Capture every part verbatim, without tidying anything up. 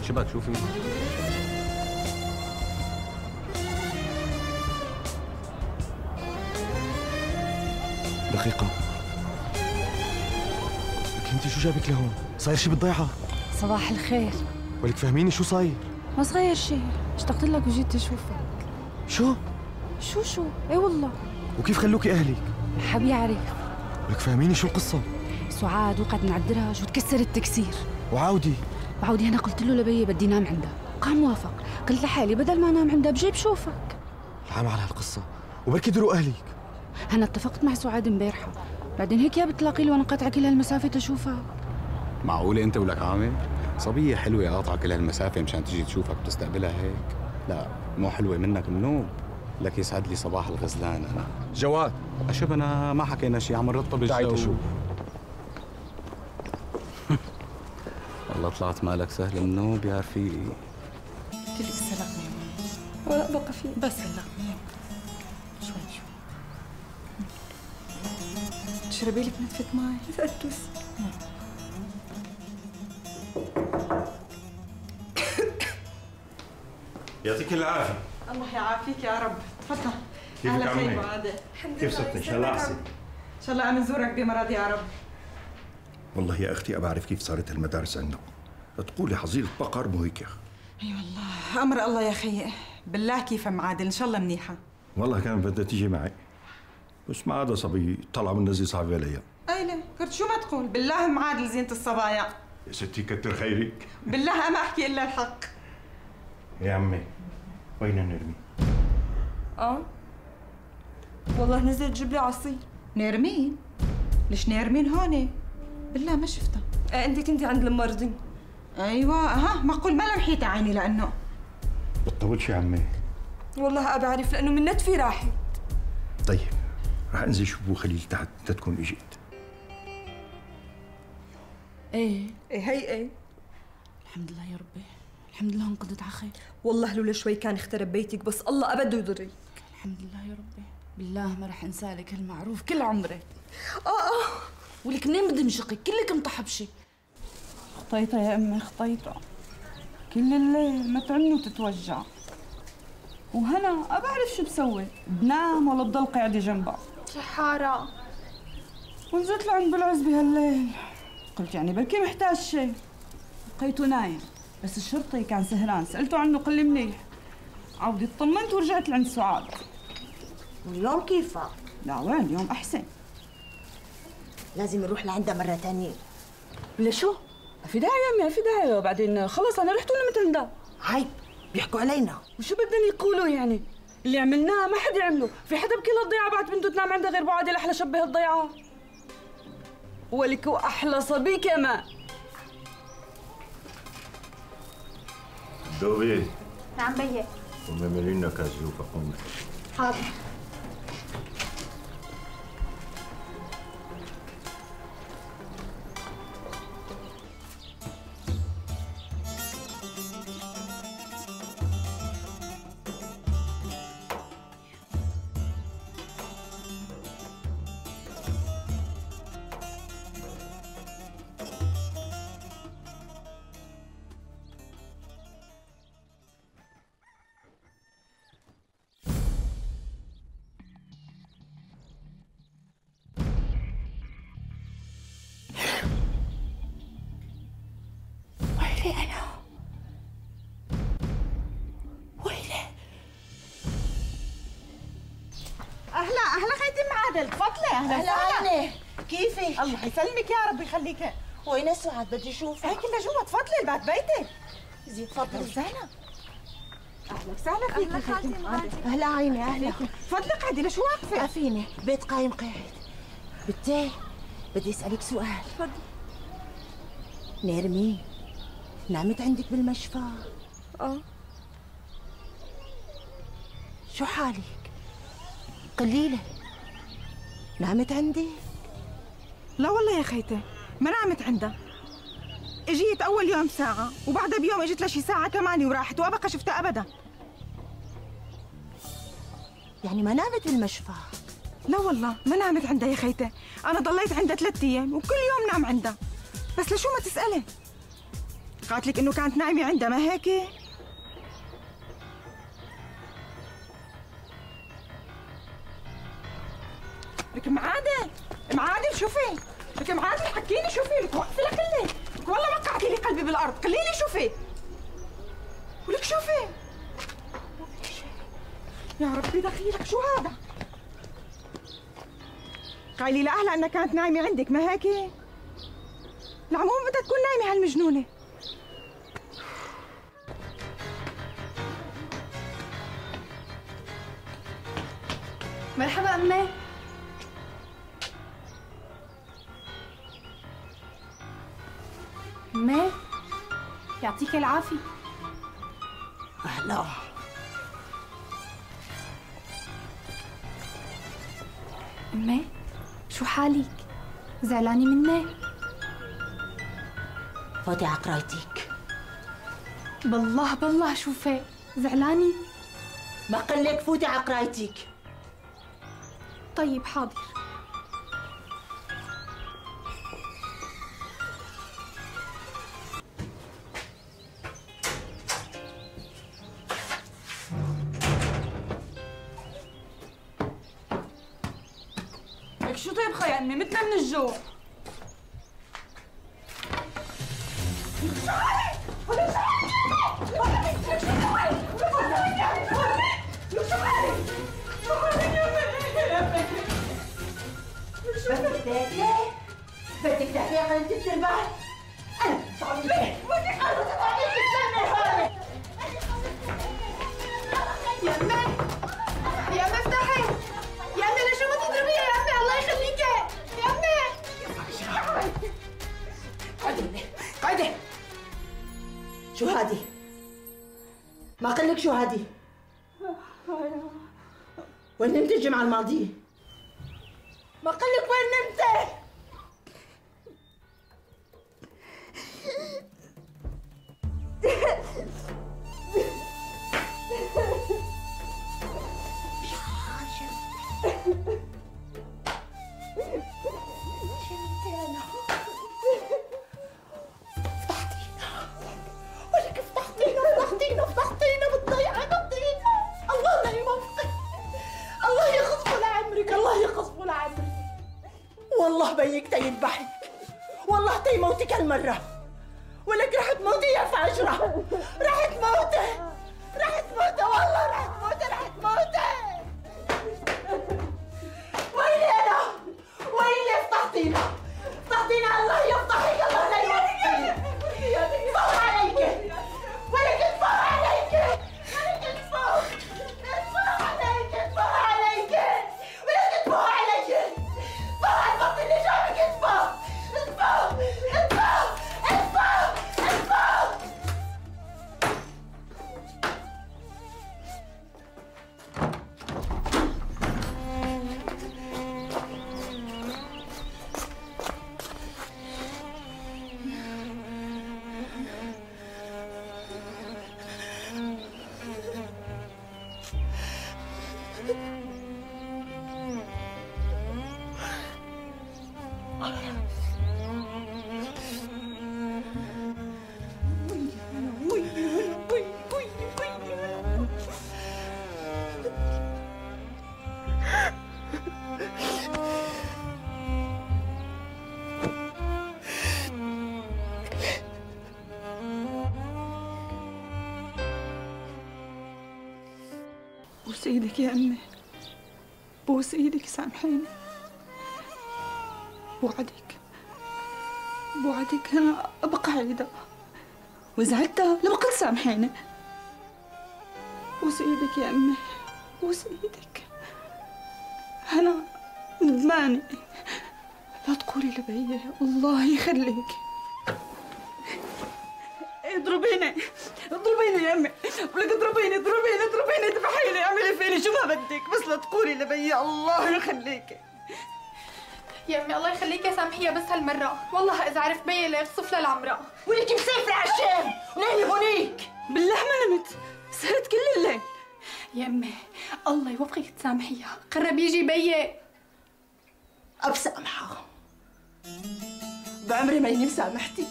شبك شوفي. دقيقة، لك انت شو جابك لهون؟ صاير شي بالضيعة؟ صباح الخير. ولك فهميني شو صاير؟ ما صاير شي، اشتقت لك وجيت اشوفك. شو؟ شو شو؟ ايه والله. وكيف خلوكي اهلك؟ حاب يعرف. ولك فهميني شو القصة؟ سعاد وقعت من على الدرج وتكسر التكسير. وعودي؟ وعودي هنا قلت له لبيي بدي نام عندها، قام وافق، قلت لحالي بدل ما انام عندها بجي بشوفك. العام على هالقصة، وبركي دروا اهلك. انا اتفقت مع سعاد امبارحة، بعدين هيك يا بتلاقي لي وانا قاطعة كل هالمسافة تشوفها. معقولة انت ولك عامل؟ صبية حلوة قاطعة كل هالمسافة مشان تجي تشوفك بتستقبلها هيك؟ لا مو حلوة منك منوب. لك يسعد لي صباح الغزلان انا. جواد اشوف انا ما حكينا شيء، عم نرطب الجو. تعي تشوف. والله طلعت مالك سهل منوب يا رفيقي. قلت لك سلقني ولا بقى فيه بس سلقني شوي شوي. تشربي لك نتفة مي؟ فقدتوس. يعطيك العافية. الله يعافيك يا رب، تفضل. كيفك عمي؟ عادي. كيف صرت؟ إن شاء الله أحسن. إن شاء الله عم نزورك بمرض يا رب. والله يا أختي أبى أعرف كيف صارت المدارس عندنا. تقولي حظيرة بقر مو هيك يا أخي. اي والله أمر الله يا خيي، بالله كيف معادل، إن شاء الله منيحة. والله كان بدها تيجي معي، بس ما عاد صبي طلع من نزي صعب عليا. أيلة كنت شو ما تقول، بالله معادل زينة الصبايا. يا ستي كتر خيرك. بالله ما أحكي إلا الحق. يا عمي وين نرمي؟ اه والله نزلت تجيب لي عصير. نيرمين؟ ليش نيرمين هون؟ بالله ما شفتها. آه انت كنتي عند الممرضين. ايوه ها معقول ما لمحيت عيني لانه بتطولش يا عمي. والله ابى اعرف لانه من نتفي راحت. طيب رح انزل شوف ابو خليل تحت تتكون اجيت. ايه ايه هي ايه. الحمد لله يا ربي، الحمد لله انقضت على خير. والله لولا شوي كان اخترب بيتك، بس الله ابدا يضرك. الحمد لله يا ربي، بالله ما رح انسالك هالمعروف كل عمري. اه اه ولك منين بدمشقك كلك مطحبشه. خطيطة يا امي خطيطة، كل الليل ما تعني وتتوجع. وهنا ابى اعرف شو بسوي، بنام ولا بضل قاعدة جنبها؟ شحارة. ونزلت لعند بالعز بهالليل، قلت يعني بركي محتاج شيء، لقيته نايم، بس الشرطي كان سهران، سألته عنه قال لي منيح. عودي اطمنت ورجعت لعند سعاد. واليوم كيفها؟ لا وين اليوم أحسن. لازم نروح لعندها مرة تانية. لشو؟ ما في داعي يا أمي، ما في داعي، وبعدين خلص أنا رحت ونمت عندها. عيب بيحكوا علينا. وشو بدهم يقولوا يعني؟ اللي عملناه ما حد يعمله، في حدا بكل الضيعة بعد بنته تنام عندها غير بعادل أحلى شبه الضيعة. ولك وأحلى صبي كمان. دوبي. نعم بيي. قومي اعملي لنا كاس زوبة قومي. حاضر. أنا ويلي. اهلا اهلا خيتي معادل، تفضلي. اهلا أهلا عيني، كيفك؟ الله يسلمك يا رب يخليك. وين سعاد؟ بدي اشوفها. هي كلها جوا، تفضلي البات بيتك. زي تفضلي. وسهلا. اهلا وسهلا فيك يا خالتي معادل. أهلا عيني أهلا. تفضلي قعدي، ليش واقفه؟ عافيني، بيت قايم قاعد. بنتي بدي اسألك سؤال. تفضلي. نيرمين نامت عندك بالمشفى؟ اه. شو حالك؟ قليلة نامت عندي؟ لا والله يا خيتي ما نامت عندها. اجيت اول يوم ساعة وبعدها بيوم اجت لشي ساعة كمان وراحت وابقى شفتها ابدا. يعني ما نامت بالمشفى؟ لا والله ما نامت عندها يا خيتي، انا ضليت عندها ثلاث ايام وكل يوم نام عندها. بس لشو ما تسألي؟ قالت لك انه كانت نايمه عندها ما هيك؟ لك معادل معادل شوفي، لك معادل حكيني شوفي، لك وقفي لك لك والله ما قعدتي لي قلبي بالارض، خليني شوفي ولك شوفي. يا ربي دخيلك شو هذا؟ قايلي لأهلها انها كانت نايمه عندك ما هيك؟ العموم بدها تكون نايمه هالمجنونه. مرحبا أمي. أمي يعطيك العافية. أهلا. أمي شو حالك؟ زعلانة مني؟ فوتي على قرايتك. بالله بالله شوفي زعلانة؟ ما قلك فوتي على قرايتك. طيب حاضر. لك شو طيبخة يا امي؟ متنا من الجوع. بدك تاكلي؟ بدك تاكلي قلة الترباح؟ أنا بتعمل ليه؟ بدك أنا بتعمل تستني هون. يا أمي يا أمي افتحي يا أمي، ليش ما تضربيها يا أمي؟ الله يخليكي يا أمي. قعدي قعدي. شو هادي؟ ما قلك شو هادي؟ وين نمتي الجمعة الماضية؟ ما قلك وين نمتي؟ ولك فضحتينا فضحتينا فضحتينا بالضيعة قضينا. الله لا يوفقك، الله يخصفه لعمرك، الله يخصفه لعمرك. والله بيك تيذبحك، والله تيموتك هالمرة. ولك رح تموتي يا فاجرة، رح تموتي رح تموتي والله رح تموتي رح تموتي. ويلي أنا ويلي فضحتينا فضحتينا. الله يفضحك، الله لا يوفقك. صار عليك ولك اصبر عليك ولك اصبر اصبر عليك اصبر عليك ولك اصبر عليك. اصبر على البط اللي جابك. اصبر اصبر اصبر اصبر اصبر. بوس ايدك يا امي، بوس ايدك سامحيني. بوعدك بوعدك انا ابقى عيدة، واذا عدتها لبقى تسامحيني. بوس ايدك يا امي، بوس ايدك. انا ندمانة، لا تقولي لبي الله يخليك. اضربيني اضربيني يا امي، ولك اضربيني اضربيني اضربيني اذبحيني اعملي فيني شو ما بدك، بس لا تقولي لبي الله يخليكي. يا امي الله يخليكي سامحيها بس هالمرة، والله اذا عرف بي ليخصف لها العمرة. ولك مسافرة على الشام ونايمة هونيك. بالله ما نمت، سهرت كل الليل. يا امي الله يوفقك تسامحيها، قرب يجي بي. أبسامحها بعمري ما إني سامحتك.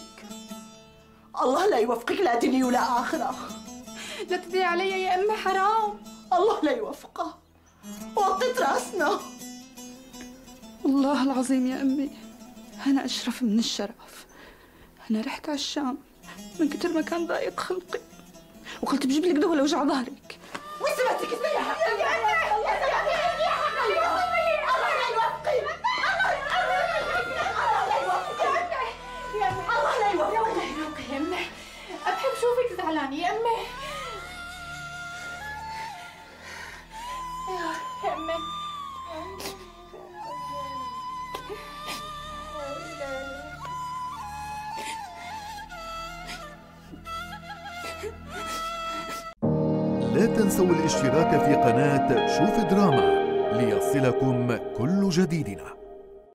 الله لا يوفقك لا دنيا ولا آخرة. لا تدعي علي يا أمي، حرام. الله لا يوفقها. وطيت راسنا. والله العظيم يا أمي أنا أشرف من الشرف. أنا رحت على الشام من كتر ما كان ضايق خلقي، وقلت بجيب لك دواء لوجع ظهرك. وين سمعتك اسمي يا حبيبي؟ يا أمي الله لا يوفقك. الله لا يوفقك. يا أمي الله لا يوفقك. الله يوفقك يا أمي. بحب شوفك زعلانة يا أمي. يا أمي لا تنسوا الاشتراك في قناة شوف دراما ليصلكم كل جديدنا.